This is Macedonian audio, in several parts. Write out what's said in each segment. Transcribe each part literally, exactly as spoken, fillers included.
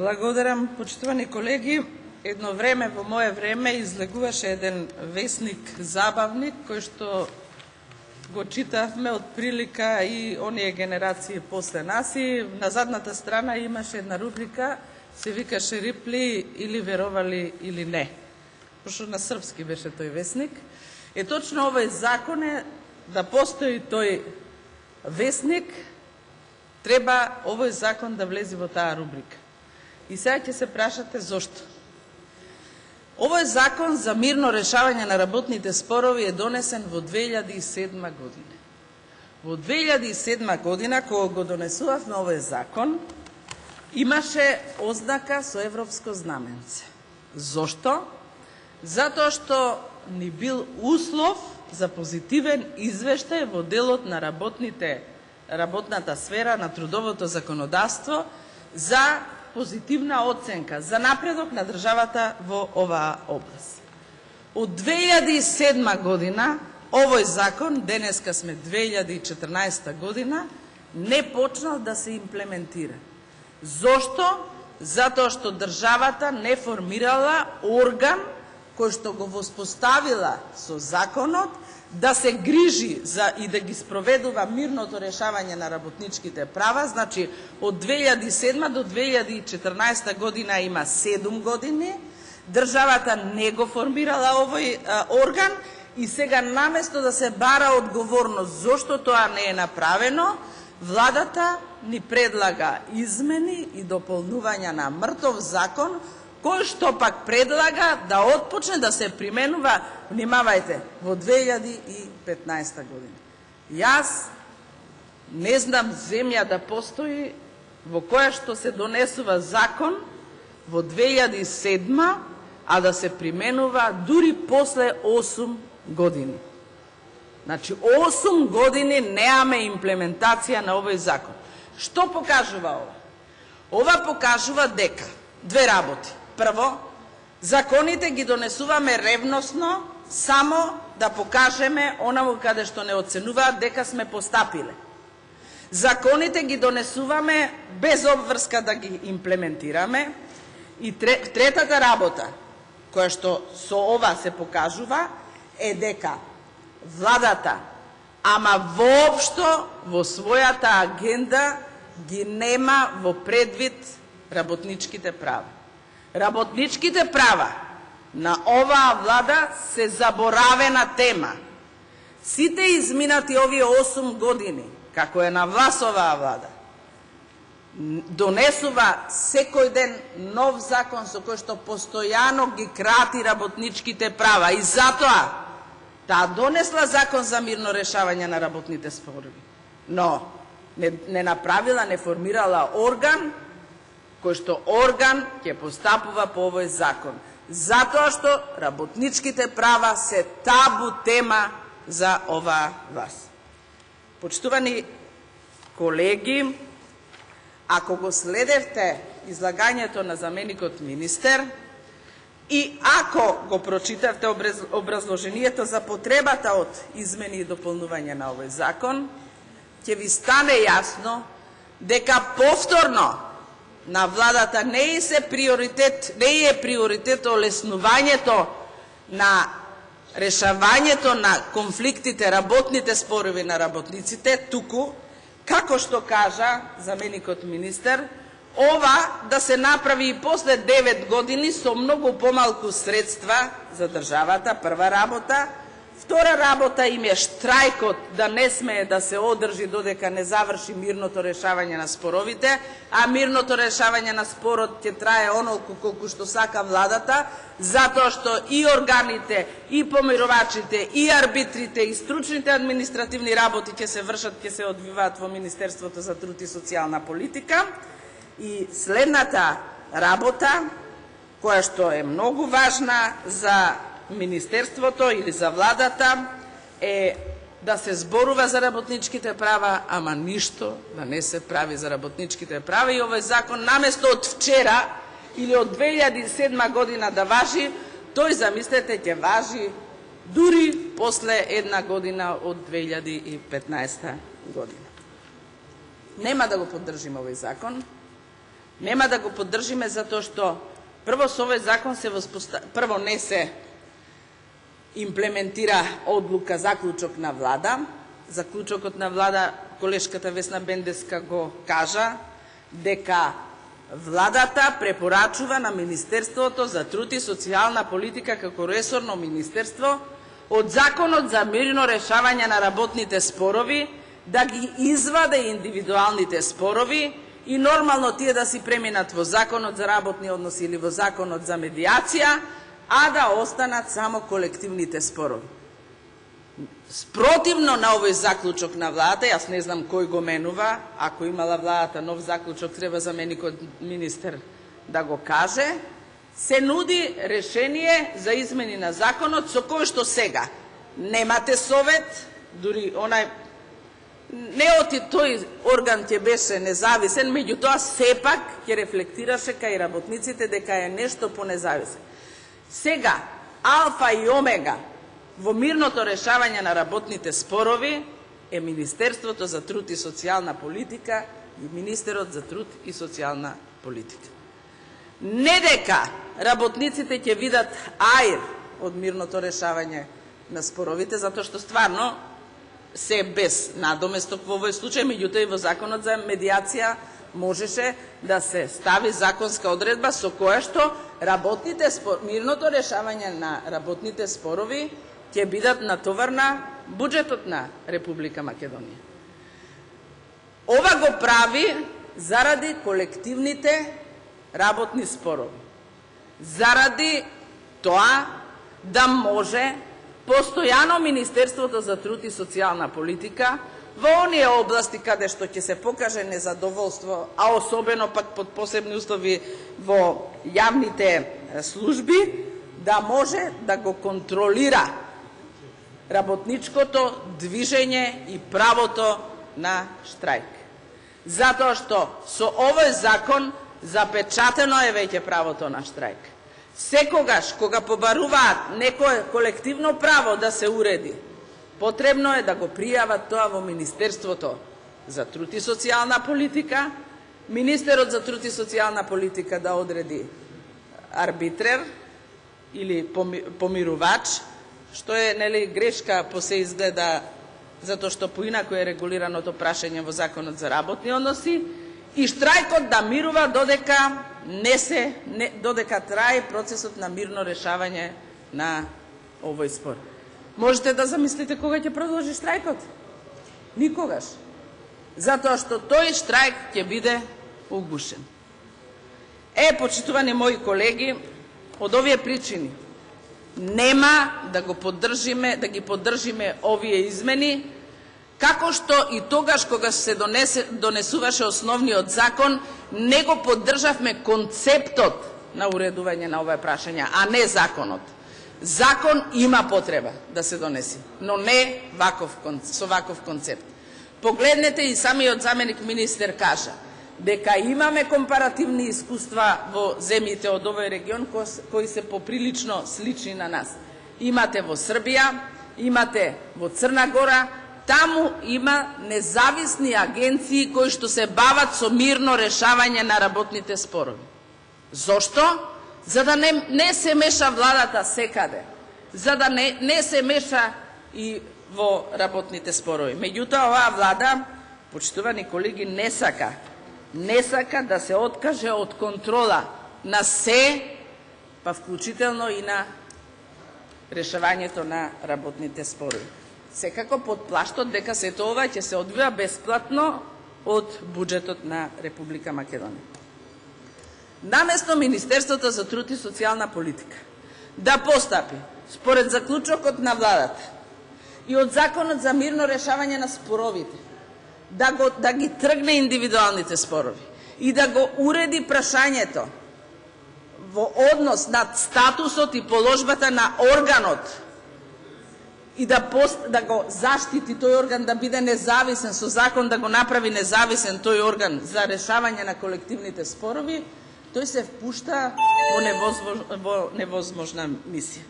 Благодарам, почитувани колеги. Едно време, во мое време, излегуваше еден весник Забавник, кој што го читавме од прилика и оние генерации после нас, и на задната страна имаше една рубрика, се викаше Рипли или веровали или не. Пошто на српски беше тој весник. Е точно овој закон е да постои тој весник, треба овој закон да влезе во таа рубрика. И сега ќе се прашате зошто. Овој закон за мирно решавање на работните спорови е донесен во две илјади и седма година. Во две илјади и седма година, кога го донесувавме овој закон, имаше ознака со европско знаменце. Зошто? Затоа што ни бил услов за позитивен извештај во делот на работните, работната сфера на трудовото законодавство за позитивна оценка за напредок на државата во оваа област. Од две илјади и седма година овој закон, денеска сме две илјади и четрнаесета година, не почнал да се имплементира. Зошто? Затоа што државата не формирала орган кој што го воспоставила со законот да се грижи за и да ги спроведува мирното решавање на работничките права. Значи, од две илјади и седма до две илјади и четрнаесета година има седум години, државата не го формирала овој а, орган и сега наместо да се бара одговорност зошто тоа не е направено, владата ни предлага измени и дополнувања на мртов закон, кој што пак предлага да отпочне да се применува, внимавајте, во две илјади и петнаесета година. Јас не знам земја да постои во која што се донесува закон во две илјади и седма, а да се применува дури после осум години. Значи, осум години неаме имплементација на овој закон. Што покажува ова? Ова покажува дека две работи. Прво, законите ги донесуваме ревносно само да покажеме онаму каде што не оценуваат дека сме постапиле. Законите ги донесуваме без обврска да ги имплементираме. И третата работа, која што со ова се покажува, е дека владата, ама воопшто во својата агенда ги нема во предвид работничките права. Работничките права на оваа влада се заборавена тема. Сите изминати овие осум години, како е на власт оваа влада, донесува секој ден нов закон со кој што постојано ги крати работничките права. И затоа таа донесла закон за мирно решавање на работните спорови, но не, не направила, не формирала орган кој што орган ќе постапува по овој закон. Затоа што работничките права се табу тема за оваа власт. Почитувани колеги, ако го следевте излагањето на заменикот министер и ако го прочитавте образложението за потребата од измени и дополнување на овој закон, ќе ви стане јасно дека повторно на владата не е се приоритет, не е приоритет олеснувањето на решавањето на конфликтите, работните спорови на работниците, туку, како што кажа заменикот министер, ова да се направи и после девет години со многу помалку средства за државата, прва работа. Втора работа им е штрајкот да не смее да се одржи додека не заврши мирното решавање на споровите, а мирното решавање на спорот ќе трае онолку колку што сака владата, затоа што и органите, и помировачите, и арбитрите, и стручните административни работи ќе се вршат, ќе се одвиваат во Министерството за труд и социјална политика. И следната работа, која што е многу важна за Министерството или за владата, е да се зборува за работничките права, ама ништо да не се прави за работничките права. И овој закон, наместо од вчера или од две илјади и седма година да важи, тој, замислете, ќе важи дури после една година од две илјади и петнаесета година. Нема да го поддржим овој закон. Нема да го поддржиме затоа што прво со овој закон се воспоста... прво не се имплементира одлука заклучок на влада. Заклучокот на влада, колешката Весна Бендеска го кажа, дека владата препорачува на Министерството за труд и социјална политика како ресорно министерство од Законот за мирно решавање на работните спорови да ги изваде индивидуалните спорови и нормално тие да си преминат во Законот за работни односи или во Законот за медиација, а да останат само колективните спорови. Спротивно на овој заклучок на владата, јас не знам кој го менува, ако имала владата нов заклучок, треба заменикот министер да го каже, се нуди решение за измени на законот со кој што сега немате совет, дури онај не оти тој орган ќе беше независен, меѓутоа сепак ќе рефлектираше кај работниците дека е нешто понезависен. Сега, алфа и омега во мирното решавање на работните спорови е Министерството за труд и социјална политика и Министерот за труд и социјална политика. Не дека работниците ќе видат аир од мирното решавање на споровите, затоа што стварно се без надоместок во овој случај, меѓутоа и во Законот за медиација можеше да се стави законска одредба со која што работните спор... мирното решавање на работните спорови ќе бидат натовар на буџетот на Република Македонија. Ова го прави заради колективните работни спорови. Заради тоа да може постојано Министерството за труд и социјална политика во оние области каде што ќе се покаже незадоволство, а особено пак под посебни услови во јавните служби, да може да го контролира работничкото движење и правото на штрајк. Затоа што со овој закон запечатено е веќе правото на штрајк. Секогаш кога побаруваат некое колективно право да се уреди, потребно е да го пријават тоа во Министерството за труд и социјална политика, Министерот за труд и социјална политика да одреди арбитрер или помирувач, што е нели грешка по се изгледа, затоа што поинаку е регулираното прашање во Законот за работни односи, и штрајкот да мирува додека не се не, додека трае процесот на мирно решавање на овој спор. Можете да замислите кога ќе продолжи штрајкот? Никогаш. Затоа што тој штрајк ќе биде угушен. Е, почитувани мои колеги, од овие причини нема да го поддржиме, да ги поддржиме овие измени, како што и тогаш кога се донесе, донесуваше основниот закон, не го поддржавме концептот на уредување на овие прашања, а не законот. Закон има потреба да се донеси, но не ваков, со ваков концепт. Погледнете, и самиот заменик министер кажа дека имаме компаративни искуства во земјите од овој регион кои се поприлично слични на нас. Имате во Србија, имате во Црна Гора, таму има независни агенции кои што се бават со мирно решавање на работните спорови. Зошто? За да не, не се меша владата секаде, за да не, не се меша и во работните спорови. Меѓутоа, оваа влада, почитувани колеги, не сака, не сака да се откаже од контрола на се, па вклучително и на решавањето на работните спорови. Секако под плаштот дека сето ова ќе се одвива бесплатно од буџетот на Република Македонија. Наместо Министерството за труд и социјална политика да постапи според заклучокот на владата и од Законот за мирно решавање на споровите, да, го, да ги тргне индивидуалните спорови и да го уреди прашањето во однос над статусот и положбата на органот и да, пост, да го заштити тој орган да биде независен, со закон да го направи независен тој орган за решавање на колективните спорови, тој се впушта во, невозмож, во невозможна мисија.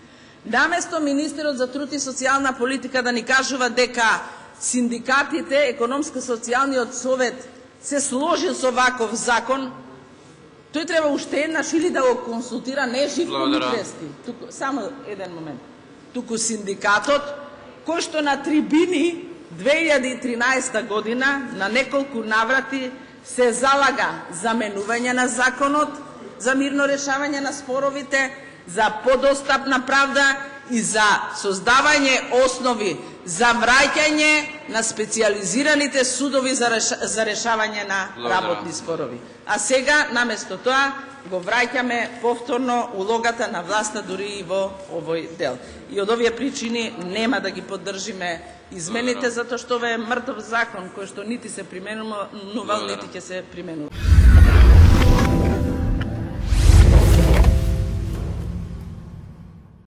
Наместо Министерот за труд и социјална политика да ни кажува дека синдикатите, економско-социјалниот совет се сложил со ваков закон, Тој треба уште еднаш или да го консултира, не Живко Митревски, туку само еден момент. Туку синдикатот кој што на трибини две илјади и тринаесета година на неколку наврати се залага за менување на законот, за мирно решавање на споровите, за подостапна правда и за создавање основи за враќање на специјализираните судови за, реш... за решавање на работни спорови. А сега, наместо тоа, го враќаме повторно улогата на власта дури и во овој дел. И од овие причини нема да ги поддржиме измените, затоа што ова е мртов закон кој што нити се применува, нити ќе се применува.